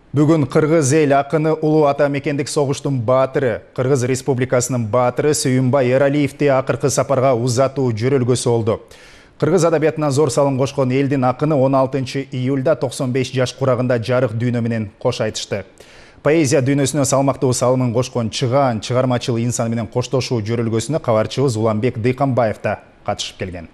Бүгүн Кыргыз эл акыны улуу ата мекендик согуштун баатыры, Кыргыз Республикасынын баатыры Сүйүнбай Эралиевди акыркы сапарга узатуу жөрөлгөсү болду. Кыргыз адабиятына зор салым кошкон элдин акыны 16 июлда 95 жаш курагында жарык дүйнө менен кош айтышты. Поэзия дүйнөсүнө салмактуу салымын кошкон чыгаан чыгармачыл инсан менен коштошуу жөрөлгөсүнө кабарчыбыз Уланбек Дыйканбаев да катышып келген.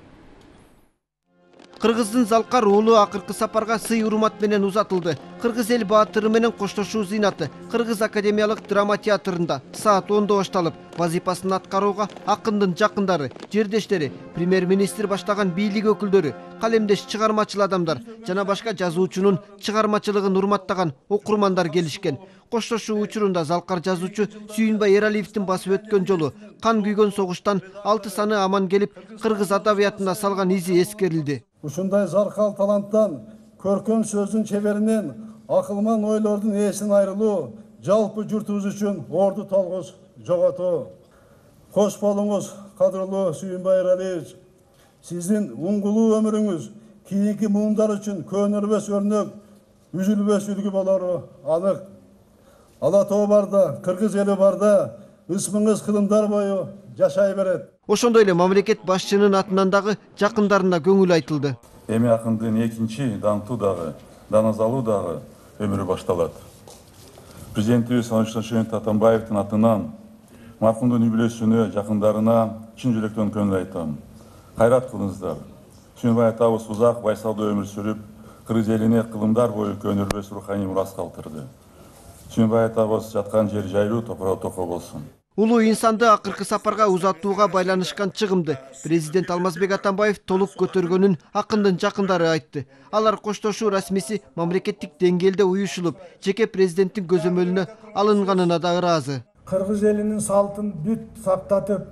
Кыргыздын Залкар уулу акыркы сапарга сый урмат менен узатылды. Кыргыз эл баатыры менен коштошуу зыйнаты Кыргыз академиялык драма театрында саат 10-да башталып, вазифасын аткарууга акындын жакындары, жердештери, премьер-министр баштаган бийлик өкүлдөрү, калемдеш чыгармачыл адамдар жана башка жазуучунун чыгармачылыгын урматтаган окурмандар келишкен. Коштошуу учурунда Залкар жазуучу Сүйүнбай Эралиевдин басып өткөн жолу кан күйгөн согуштан 6 саны аман келип, кыргыз адабиятына салган изи эскерилди. Ушундай заркал таланттан, көркөм сөздүн чеберинен, акылман ойлордун ээсин айрылуу жалпы журтубуз үчүн орду толгус жоготуу. Кош болуңуз, кадырлуу Сүйүнбай Эралиевич. Сиздин уңгулуу өмүрүңүз кийинки муундар үчүн көнөрбөс өрнөк, үзүлбөс үлгү болору анык. Ала тоо барда, кыргыз эли барда, ысмыңыз кылымдар бою жашай берет. Ошондой эле мамлекет башчынын атынан дагы жакындарына көңүл айтылды. Эми акындын экинчи даңктуу дагы, даназалуу дагы өмүрү башталат. Президентибиз Нурсултан Атамбаевдин атынан маркумдун үй бүлөсүнө, жакындарына чын жүрөктөн көңүл айтам. Кайрат кылыңыздар. Сүйүнбай атабыз узак байсалдуу өмүр сүрүп, кыргыз элине кылымдар бою көнөрбөс руханий мурас калтырды. Сүйүнбай атабыз жаткан жер жайлуу, топурагы токо болсун. Улуу инсанды акыркы сапарга узатууга байланышкан чыгымды президент Алмазбек Атамбаев толук көтөргөнүн акындын жакындары айтты. Алар коштошуу расмиси мамлекеттик деңгээлде уюшулуп, жеке президенттин көзөмөлүнө алынганына да ыраазы. Кыргыз элинин салтын бүт сактатып,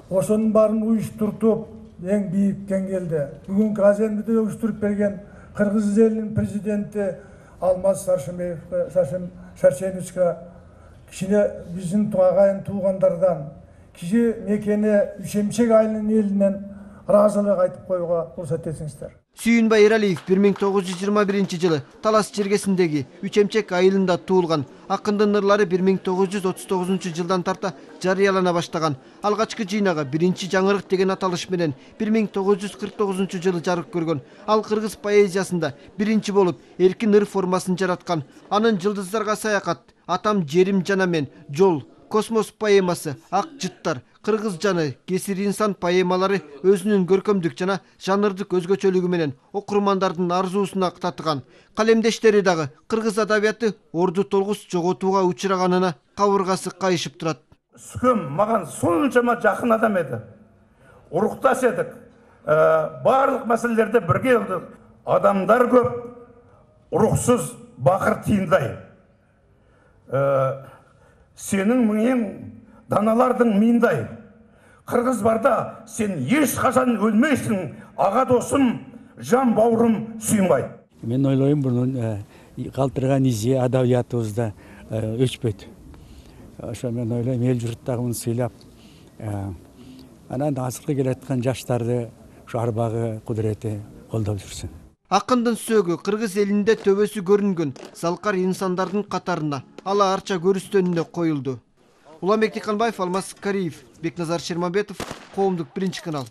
ошонун баарын уюштуртуп, эң бийик деңгээлде бүгүнкү азембиде уюштуруп берген кыргыз элинин президенти Алмаз Шаршеновичке кичине биздин агайын туугандардан, киши мекени Үшемчек айылынын элинен ыраазылык айтып коюуга уруксат этиңиздер. Сүйүнбай Эралиев 1921 Талас чергесиндеги Üçemçek айылында туулган. Акындын ырлары 1939 жылдан тарта жарыялана баштаган. Алгачкы жыйнагы биринчи жаңырык деген аталыш менен 1949 жылы жарык көргөн. Ал кыргыз поэзиясында биринчи болуп эркин ыр формасын жараткан. Анын Жылдыздарга саякат, Атам жерим жана мен, Жол, Космос поэмасы, Ак жыттар, Кыргыз жаны, Кесир инсан поэмалары өзүнүн көркөмдүк жана жанрдык өзгөчөлүгү менен окурмандардын арзуусуна татыган. Калемдештери дагы кыргыз адабияты орду толгус жоготууга учураганына кабыргасы кайышып турат. Сүкөм маған сончама жакын адам эди. Урукташ эдик. Барлык маселелерде бирге болдук. Адамдар көп, уруксуз бакыр тыйындай. Сенің миң даналардың миындай. Кыргыз барда сен еш качан өлмейсің, ага досум, жан бауырым Сүйүнбай. Мен ойлойм, бунун калтырган изи адабиятыбызда өчпөйт. Ошо мен ойлойм, эл журт дагы муну сыйлап, анан азыркы келаткан жаштарды ушу арбагы кудурети колдоп жүрсүн. Акындын сөөгү кыргыз элинде төбөсү көрүнгөн Залкар инсандардын катарына, ала арча көрүстөнүнө коюлду. Уланбек Дыйканбаев, Алмаз Кариев, Бекназар Шермамбетов, Коомдук биринчи канал.